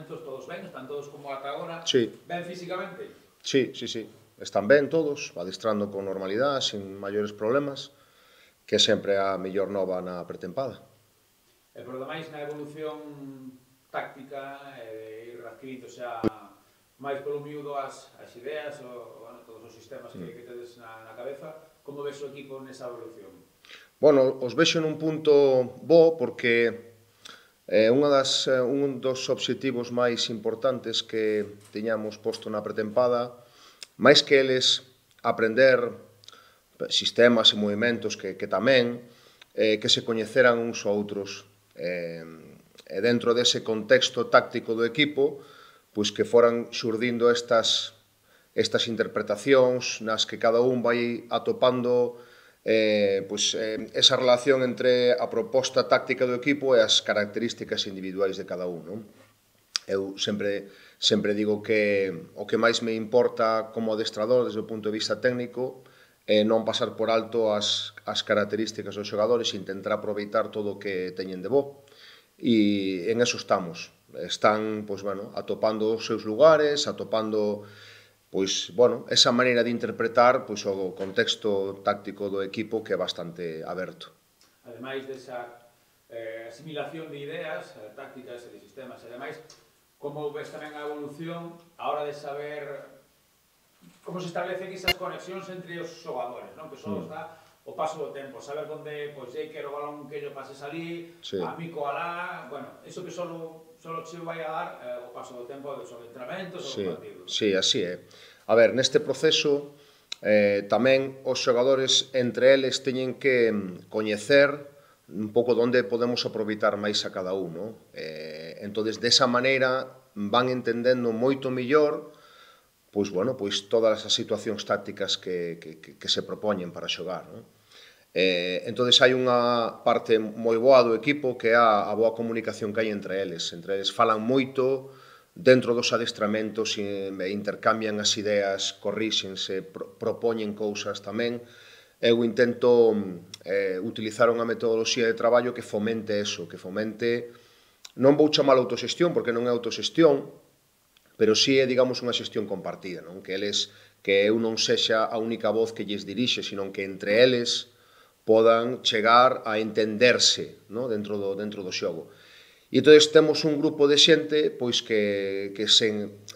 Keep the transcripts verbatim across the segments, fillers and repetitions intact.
adestamentos todos ben, están todos como ata agora, Sí. ben físicamente? Sí, sí, sí. Están ben todos, adestrando con normalidade, sin maiores problemas, que é sempre a mellor nova na pretempada. E por demais, na evolución táctica, e ir adquirindo xa máis polo miúdo as, as ideas, o, bueno, todos os sistemas que, que tedes na, na cabeza, como ves o equipo nesa evolución? Bueno, os vexo nun punto bo porque eh, unha das, eh, un dos obxectivos máis importantes que tiñamos posto na pretempada, máis que eles aprender sistemas e movimentos que, que tamén, eh, que se coñeceran uns a outros. Eh, e dentro dese contexto táctico do equipo, pois que foran xurdindo estas, estas interpretacións nas que cada un vai atopando eh, pois, eh, esa relación entre a proposta táctica do equipo e as características individuais de cada un, non? Eu sempre, sempre digo que o que máis me importa como adestrador desde o punto de vista técnico é non pasar por alto as, as características dos xogadores e intentar aproveitar todo o que teñen de bo. E en eso estamos. Están, pois, bueno, atopando os seus lugares, atopando, pois, bueno, esa maneira de interpretar, pois, o contexto táctico do equipo que é bastante aberto. Ademais desa eh, asimilación de ideas, eh, tácticas e de sistemas, e ademais, como ves tamén a evolución a hora de saber como se establecen esas conexións entre os xogadores, non? Que só está o paso do tempo, saber onde, pois, ei, quero o balón que yo pases ali, sí. a mico alá, bueno, eso que só solo che vai a dar eh, o paso do tempo dos entrenamentos ou sí, dos partidos. Sí, así é. A ver, neste proceso, eh, tamén os xogadores entre eles teñen que coñecer un pouco onde podemos aproveitar máis a cada un, non? Eh, entonces, desa maneira, van entendendo moito mellor pois, bueno, pois todas as situacións tácticas que, que, que se propoñen para xogar, non? Eh, entonces hai unha parte moi boa do equipo que é a, a boa comunicación que hai entre eles. Entre eles falan moito dentro dos adestramentos e intercambian as ideas, corríxense, pro, propoñen cousas tamén. Eu intento eh, utilizar unha metodoloxía de traballo que fomente eso, que fomente, non vou chamar autoxestión porque non é autoxestión, pero si é, digamos, unha xestión compartida, non? Que eles, que eu non sexa a única voz que lles dirixe, sino que entre eles podan chegar a entenderse, non? Dentro do, dentro do xogo. E entón temos un grupo de xente pois que, que se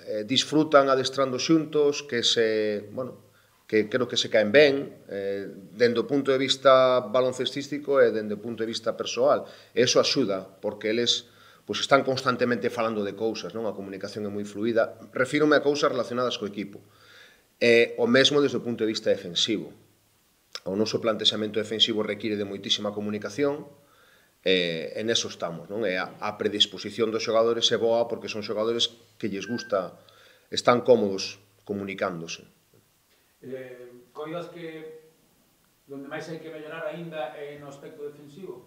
eh, disfrutan adestrando xuntos, que se, bueno, que creo que se caen ben, eh, dende o punto de vista baloncestístico e dende o punto de vista persoal. E iso axuda, porque eles pois están constantemente falando de cousas, non? A comunicación é moi fluida. Refírome a cousas relacionadas co equipo. E o mesmo desde o punto de vista defensivo. O noso plantexamento defensivo require de moitísima comunicación, e en eso estamos, non? E a, a predisposición dos xogadores é boa porque son xogadores que lles gusta, están cómodos comunicándose. Eh, coidas que onde máis hai que mellorar aínda é no aspecto defensivo?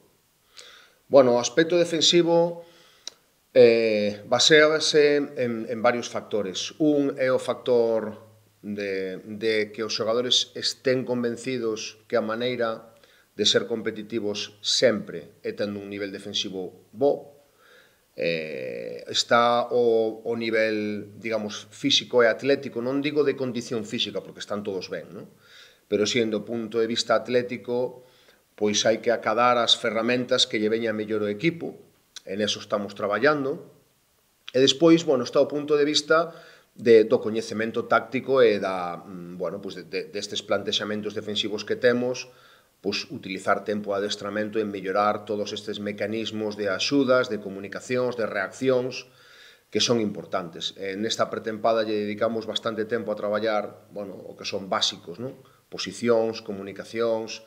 Bueno, o aspecto defensivo eh, basease en, en varios factores. Un é o factor de, de que os xogadores estén convencidos que a maneira de ser competitivos sempre é tendo un nivel defensivo bo. Eh, está o, o nivel, digamos, físico e atlético, non digo de condición física, porque están todos ben, non? Pero si, do punto de vista atlético, pois hai que acadar as ferramentas que lle veña mellor o equipo, en eso estamos traballando, e despois, bueno, está o punto de vista de, do coñecemento táctico e da, bueno, pois de, de, destes plantexamentos defensivos que temos, pois utilizar tempo de adestramento en mellorar todos estes mecanismos de axudas, de comunicacións, de reaccións, que son importantes. E nesta pretempada lle dedicamos bastante tempo a traballar, bueno, o que son básicos, non? Posicións, comunicacións,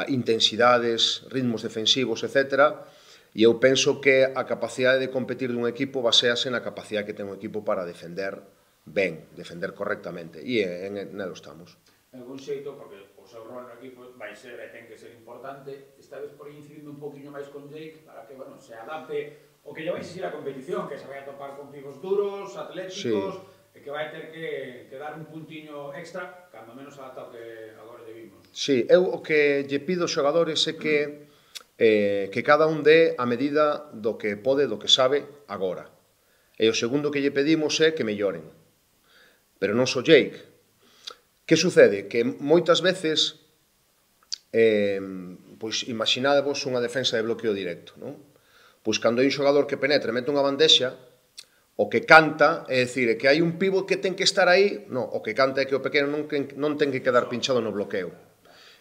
intensidades, ritmos defensivos, etcétera. E eu penso que a capacidade de competir dun equipo basease na capacidade que ten un equipo para defender ben, defender correctamente. E en, en, nelo estamos. En algún xeito, porque o seu rol no equipo vai ser e ten que ser importante, esta vez por incidindo un poquinho máis con Jake para que, bueno, se adapte o que lle vai exigir a competición, que se vai a topar con pibos duros, atléticos, sí, e que vai ter que, que dar un puntiño extra, cando menos adapta o que agora lle vimos. Sí, eu o que lle pido aos xogadores é que eh, que cada un dé a medida do que pode, do que sabe agora. E o segundo que lle pedimos é que melloren. Pero non só Jake. Que sucede? Que moitas veces, eh, pois imaginadevos unha defensa de bloqueo directo, non? Pois cando hai un xogador que penetra e mete unha bandexa, o que canta, é dicir, que hai un pivo que ten que estar aí, non, o que canta é que o pequeno non, non ten que quedar pinchado no bloqueo.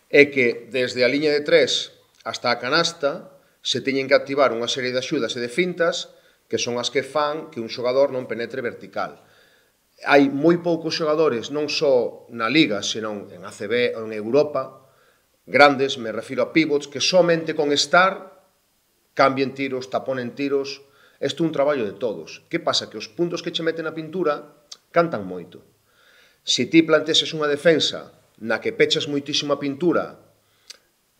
É que desde a liña de tres hasta a canasta se teñen que activar unha serie de axudas e de fintas que son as que fan que un xogador non penetre vertical. Hai moi poucos xogadores, non só na Liga, senón en A C B ou en Europa, grandes, me refiro a pivots, que somente con estar cambien tiros, taponen tiros. Isto é un traballo de todos. Que pasa? Que os puntos que che meten na pintura cantan moito. Se ti planteses unha defensa na que pechas moitísima pintura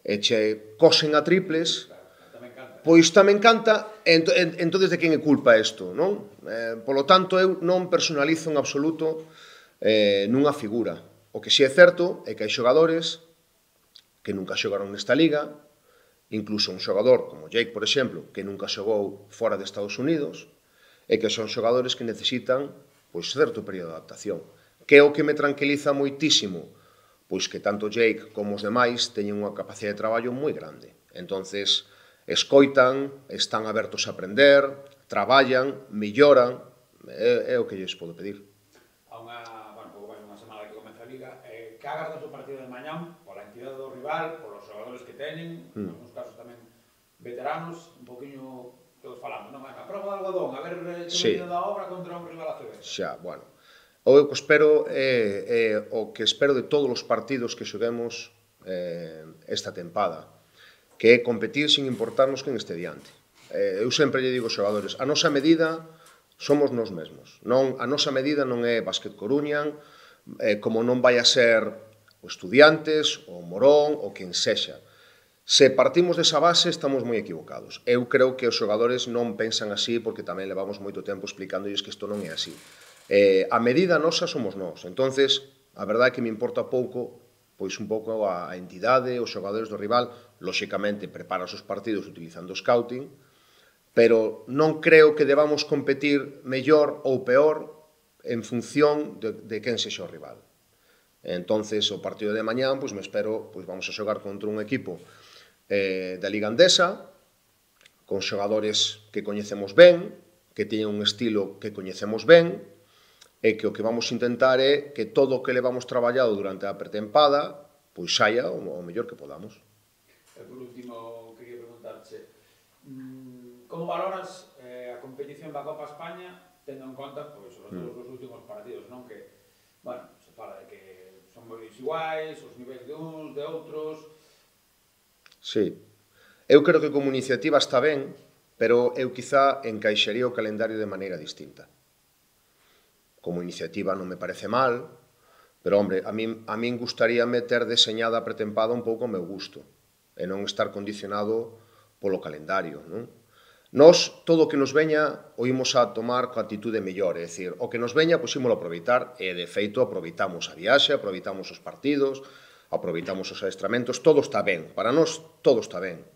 e che cosen a triples, pois tamén canta, entón de quen é culpa isto, non? Eh, polo tanto, eu non personalizo en absoluto eh, nunha figura. O que si é certo é que hai xogadores que nunca xogaron nesta liga, incluso un xogador como Jake, por exemplo, que nunca xogou fora de Estados Unidos, e que son xogadores que necesitan pois certo período de adaptación. Que é o que me tranquiliza moitísimo? Pois que tanto Jake como os demais teñen unha capacidade de traballo moi grande. Entonces, escoitan, están abertos a aprender, traballan, melloran, é, é o que lles podo pedir. A unha, bueno, pouco máis unha semana que comeza a Liga, eh, que agardas o partido de mañán pola entidade do rival, polos xogadores que teñen, mm. en algúns casos tamén veteranos, un poquinho todos falamos, non? A prova de algodón, a ver que sí. Venido da obra contra un rival A C B. Xa, bueno. O que espero é, é o que espero de todos os partidos que xoguemos eh, esta tempada, que é competir sin importarnos quen este diante. Eh, eu sempre lle digo aos xogadores, a nosa medida somos nós mesmos. Non, a nosa medida non é Básquet Coruña, eh, como non vai a ser o Estudiantes, o Morón, ou quen sexa. Se partimos desa base, estamos moi equivocados. Eu creo que os xogadores non pensan así, porque tamén levamos moito tempo explicándoles que isto non é así. Eh, a medida nosa somos nós. Entonces, a verdade é que me importa pouco, pois un pouco a entidade, os xogadores do rival, lóxicamente preparas os partidos utilizando o scouting, pero non creo que debamos competir mellor ou peor en función de, de quen sexa o rival. Entonces, o partido de mañán, pois me espero, pois vamos a xogar contra un equipo eh, da Liga Andesa, con xogadores que coñecemos ben, que teñen un estilo que coñecemos ben, e que o que vamos intentar é que todo o que levamos traballado durante a pretempada pois saia o, o mellor que podamos. E por último, quería preguntarche, como valoras eh, a competición da Copa España, tendo en conta, pois, sobre todo mm. os últimos partidos, non? Que, bueno, se fala de que son moi desiguais, os niveis de uns, de outros... Sí. Eu creo que como iniciativa está ben, pero eu quizá encaixaría o calendario de maneira distinta. Como iniciativa non me parece mal, pero, hombre, a min, a min gustaríame ter deseñada a pretempada un pouco ao meu gusto, e non estar condicionado polo calendario, non? Nós, todo o que nos veña, o imos a tomar coa actitude mellor, é dicir, o que nos veña, pois ímolo aproveitar, e, de feito, aproveitamos a viaxe, aproveitamos os partidos, aproveitamos os adestramentos, todo está ben, para nós todo está ben.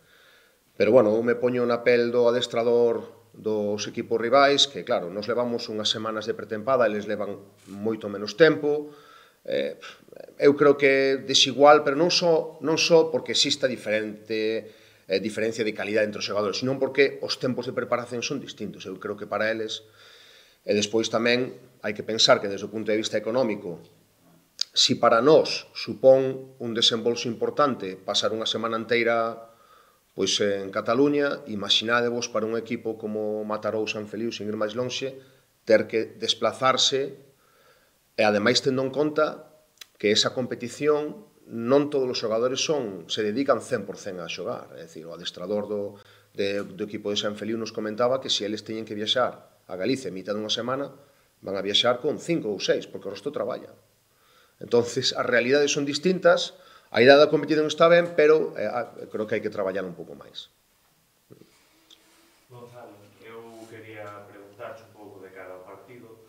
Pero, bueno, eu me poño na pel do adestrador dos equipos rivais, que, claro, nos levamos unhas semanas de pretempada, eles levan moito menos tempo. Eh, eu creo que é desigual, pero non só, non só porque exista diferente eh, diferencia de calidade entre os xogadores, sino porque os tempos de preparación son distintos. Eu creo que para eles, e despois tamén hai que pensar que desde o punto de vista económico, si para nós supón un desembolso importante pasar unha semana inteira pois en Cataluña, imaginádevos para un equipo como Mataró ou San Feliu, sin ir máis lonxe, ter que desplazarse, e ademais tendo en conta que esa competición non todos os xogadores son, se dedican cen por cen a xogar. É dicir, o adestrador do, de, do equipo de San Feliu nos comentaba que se eles teñen que viaxar a Galicia en mitad dunha semana, van a viaxar con cinco ou seis, porque o resto traballa. Entonces, as realidades son distintas. A idade da competición está ben, pero eh, creo que hai que traballar un pouco máis. Gonzalo, eu quería preguntarche un pouco de cara ao partido.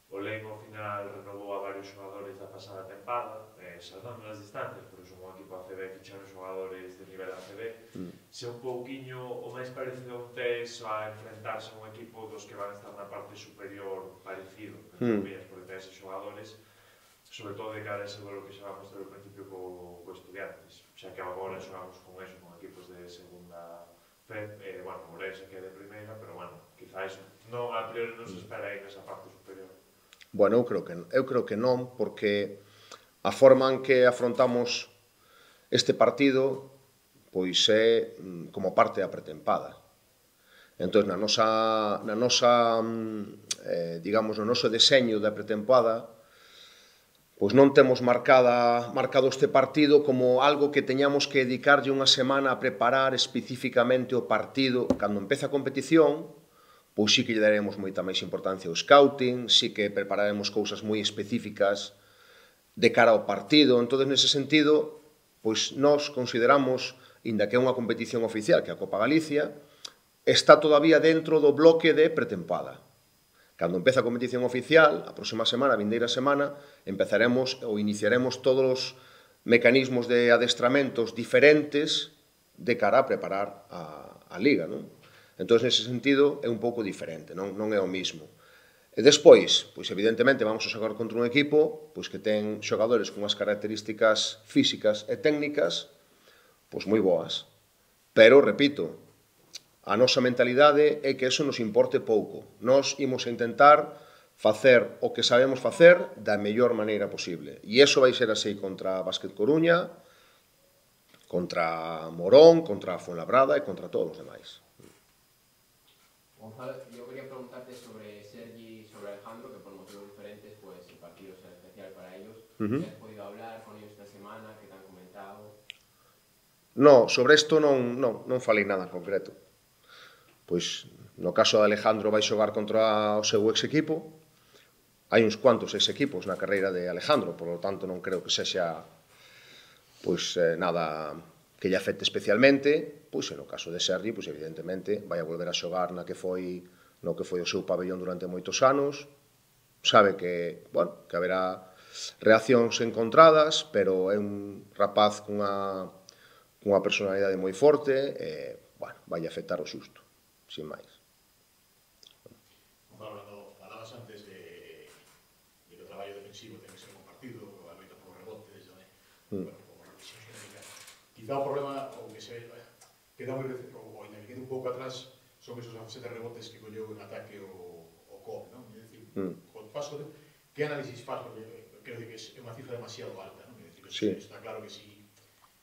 O Leiro, ao final, renovou a varios xogadores da pasada tempada, eh, salvando as distancias, pero son un equipo A C B que ficharon xogadores de nivel A C B. Mm. Se un pouquiño o máis parecido a un tes a enfrentarse a un equipo dos que van a estar na parte superior parecido, mm. Vías, porque ten eses xogadores, sobre todo de cara a ese duelo que xa vamos ter ao principio co, co Estudiantes, xa que agora xogamos con eso, con equipos de segunda fe, eh, bueno, Ourense que é de primeira, pero bueno, quizá eso, non a priori non se espera aí nesa parte superior. Bueno, eu creo que, eu creo que non, porque a forma en que afrontamos este partido pois é como parte da pretempada. Entón, na nosa, na nosa eh, digamos, no noso deseño da pretempada, pois non temos marcada, marcado este partido como algo que teñamos que dedicarlle unha semana a preparar especificamente o partido. Cando empeza a competición, pois sí que lle daremos moita máis importancia ao scouting, sí que prepararemos cousas moi específicas de cara ao partido. Entón, nese sentido, pois nós consideramos, inda que é unha competición oficial, que é a Copa Galicia, está todavía dentro do bloque de pretempada. Cando empeza a competición oficial, a próxima semana, a vindeira semana, empezaremos ou iniciaremos todos os mecanismos de adestramentos diferentes de cara a preparar a, a Liga, non? Entón, nese sentido, é un pouco diferente, non, non é o mismo. E despois, pois evidentemente, vamos a xogar contra un equipo pois que ten xogadores con unhas características físicas e técnicas pois moi boas. Pero, repito, a nosa mentalidade é que eso nos importe pouco. Nós imos a intentar facer o que sabemos facer da mellor maneira posible. E iso vai ser así contra Básquet Coruña, contra Morón, contra Fuenlabrada e contra todos os demais. Gonzalo, yo quería preguntarte sobre Sergi y sobre Alejandro, que por motivos diferentes pues el partido será especial para ellos. Uh-huh. ¿Has podido hablar con ellos esta semana? ¿Qué te han comentado? No, sobre isto non, non, non falei nada en concreto. Pois, no caso de Alejandro vai xogar contra o seu ex equipo. Hai uns cuantos ex equipos na carreira de Alejandro, por lo tanto non creo que sexa pois, eh, nada que lle afecte especialmente. Pois, no caso de Sergi, pois, evidentemente, vai a volver a xogar na que foi, no que foi o seu pabellón durante moitos anos. Sabe que, bueno, que haberá reaccións encontradas, pero é un rapaz cunha, cunha personalidade moi forte e, bueno, vai afectar o xusto, sin máis. Gonzalo, falabas antes de, de que o traballo defensivo ten que ser compartido, a loita por rebotes, né? Mm. Bueno, por revisión xenérica. Quizá o problema, o que se queda moi, ou ainda que quede un pouco atrás, son esos sete rebotes que colleu en ataque o, o C O P, non? É dicir, mm. con paso de, que análisis faz, porque creo que é unha cifra demasiado alta, non? É dicir, sí. Está claro que si,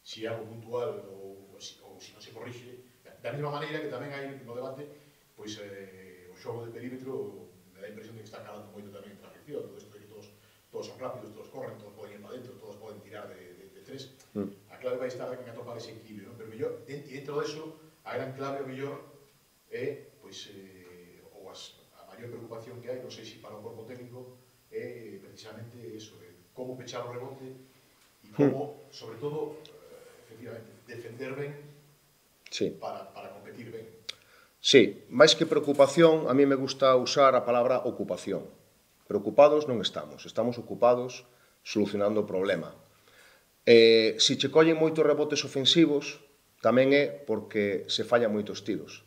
si é algo puntual ou, ou, si, ou si non se corrixe, da mesma maneira que tamén hai no debate, pois eh, o xogo de perímetro me dá a impresión de que está calando moito tamén a afección, todo isto de que todos, todos son rápidos, todos corren, todos poden ir para dentro, todos poden tirar de, de, de tres. Mm. A clave vai estar en atopar ese equilibrio, non? Pero mellor, dentro deso, a gran clave o mellor é, pois, eh, ou as, a maior preocupación que hai, non sei se para o corpo técnico, é precisamente eso, de como pechar o rebote e como, mm. sobre todo, eh, efectivamente, defender ben, sí. para, para competir ben. Sí, máis que preocupación, a mí me gusta usar a palabra ocupación. Preocupados non estamos, estamos ocupados solucionando o problema. Eh, se che collen moitos rebotes ofensivos, tamén é porque se fallan moitos tiros.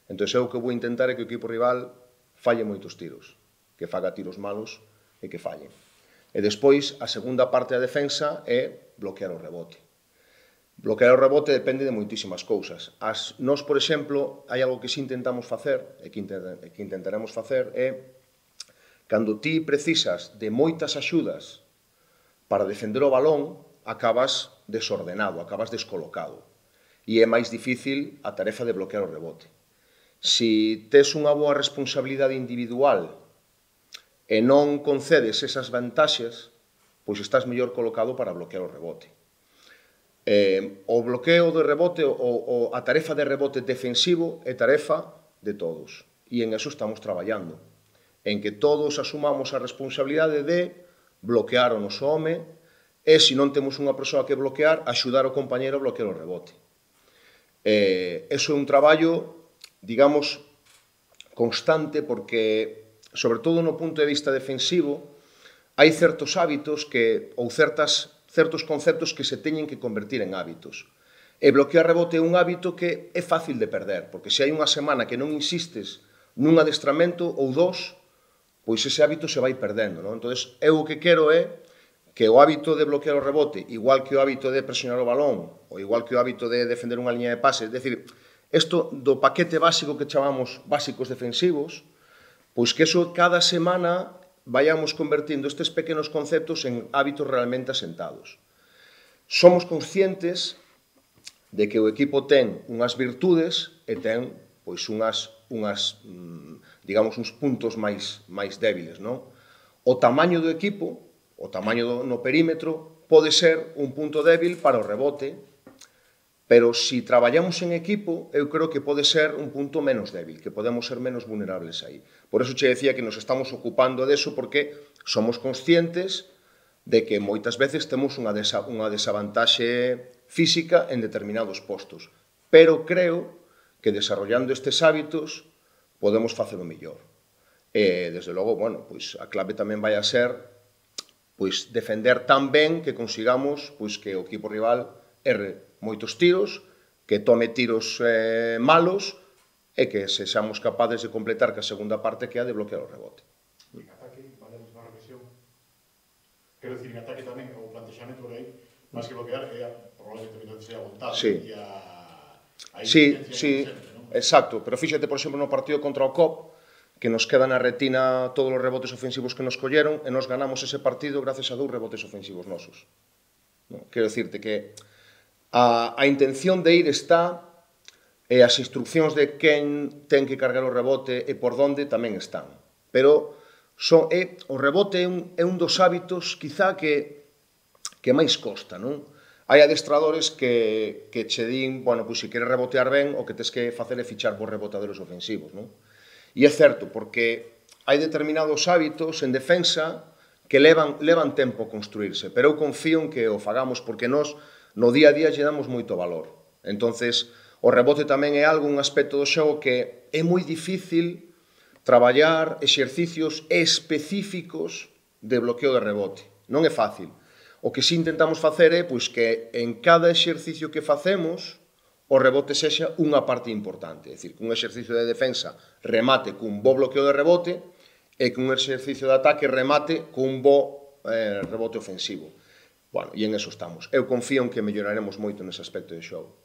Entón, eu o que vou intentar é que o equipo rival falle moitos tiros, que faga tiros malos e que fallen. E despois, a segunda parte da defensa é bloquear o rebote. Bloquear o rebote depende de moitísimas cousas. As, nós, por exemplo, hai algo que si intentamos facer, e que, intent, que intentaremos facer, é cando ti precisas de moitas axudas para defender o balón, acabas desordenado, acabas descolocado. E é máis difícil a tarefa de bloquear o rebote. Se tes unha boa responsabilidade individual e non concedes esas vantaxes, pois estás mellor colocado para bloquear o rebote. Eh, o bloqueo do rebote, o, o, a tarefa de rebote defensivo é tarefa de todos. E en eso estamos traballando. En que todos asumamos a responsabilidade de bloquear o noso home, e se non temos unha persoa que bloquear, axudar o compañero a bloquear o rebote. Eh, eso é un traballo, digamos, constante, porque sobre todo no punto de vista defensivo, hai certos hábitos que, ou certas, certos conceptos que se teñen que convertir en hábitos. E bloquear rebote é un hábito que é fácil de perder, porque se hai unha semana que non insistes nun adestramento ou dos, pois ese hábito se vai perdendo, non? Entón, eu o que quero é que o hábito de bloquear o rebote, igual que o hábito de presionar o balón, ou igual que o hábito de defender unha liña de pase, é dicir, isto do paquete básico que chamamos básicos defensivos, pois que eso cada semana vayamos convertindo estes pequenos conceptos en hábitos realmente asentados. Somos conscientes de que o equipo ten unhas virtudes e ten pois unhas, unhas digamos, uns puntos máis, máis débiles, non? O tamaño do equipo, o tamaño do, no perímetro, pode ser un punto débil para o rebote, pero se si traballamos en equipo, eu creo que pode ser un punto menos débil, que podemos ser menos vulnerables aí. Por eso che decía que nos estamos ocupando deso, porque somos conscientes de que moitas veces temos unha, desa, unha desavantaxe física en determinados postos. Pero creo que desarrollando estes hábitos podemos facelo mellor. E, desde logo, bueno, pois a clave tamén vai a ser pois defender tan ben que consigamos pois que o equipo rival erre moitos tiros, que tome tiros eh, malos e que sexamos capaces de completar que a segunda parte que é a de bloquear o rebote. En ataque, valemos unha reflexión. Quero dicir, en ataque tamén o plantexamento por aí, máis que bloquear, é probablemente que sea a vontade sí. e a, a sí, sí, sempre, non? Exacto, pero fíxate, por exemplo, no partido contra o C O P, que nos queda na retina todos os rebotes ofensivos que nos colleron e nos ganamos ese partido gracias a dous rebotes ofensivos nosos. No? Quero dicirte que a, a intención de ir está e as instruccións de quen ten que cargar o rebote e por onde tamén están. Pero so, é, o rebote é un, é un dos hábitos quizá que, que máis costa, non? Hai adestradores que, que che din, bueno, pois se queres rebotear ben, o que tes que facer é fichar por rebotadores ofensivos, non? E é certo, porque hai determinados hábitos en defensa que levan, levan tempo a construirse, pero eu confío en que o fagamos porque nós no día a día lle damos moito valor. Entonces, o rebote tamén é algo, un aspecto do xogo que é moi difícil traballar exercicios específicos de bloqueo de rebote. Non é fácil. O que si intentamos facer é pois, que en cada exercicio que facemos o rebote sexa unha parte importante. É dicir, que un exercicio de defensa remate cun bo bloqueo de rebote e que un exercicio de ataque remate cun bo eh, rebote ofensivo. Bueno, e en eso estamos. Eu confío en que melloraremos moito nese aspecto de xogo.